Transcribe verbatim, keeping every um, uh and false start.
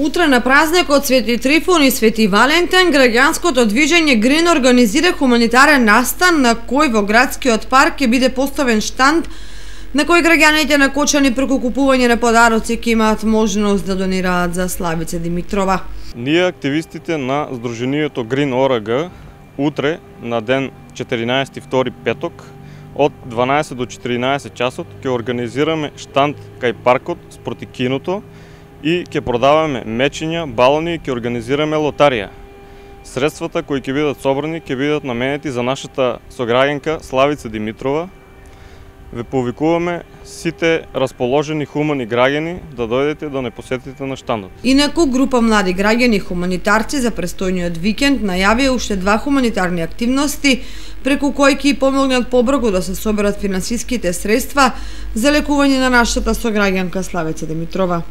Утре на празникот Свети Трифун и Свети Валентин, граѓанското движење Грин организира хуманитарен настан на кој во градскиот парк ќе биде поставен штанд на кој граѓаните на Кочани преку купување на подароци ќе имаат можност да донираат за Славица Димитрова. Ние, активистите на Сдруженијето Грин ОРГ, утре на ден четиринаесети втори петок од дванаесет до четиринаесет часот ќе организираме штанд кај паркот спроти киното и ќе продаваме мечиња, балони и ќе организираме лотарија. Средствата кои ќе бидат собрани ќе бидат наменети за нашата сограѓанка Славица Димитрова. Ве повикуваме сите расположени хумани граѓани да дојдете да не посетите на штандот. Инаку група млади граѓани хуманитарци за престојниот викенд најавија уште два хуманитарни активности преку кои ќе помогнат побрзо да се соберат финансиските средства за лекување на нашата сограѓанка Славица Димитрова.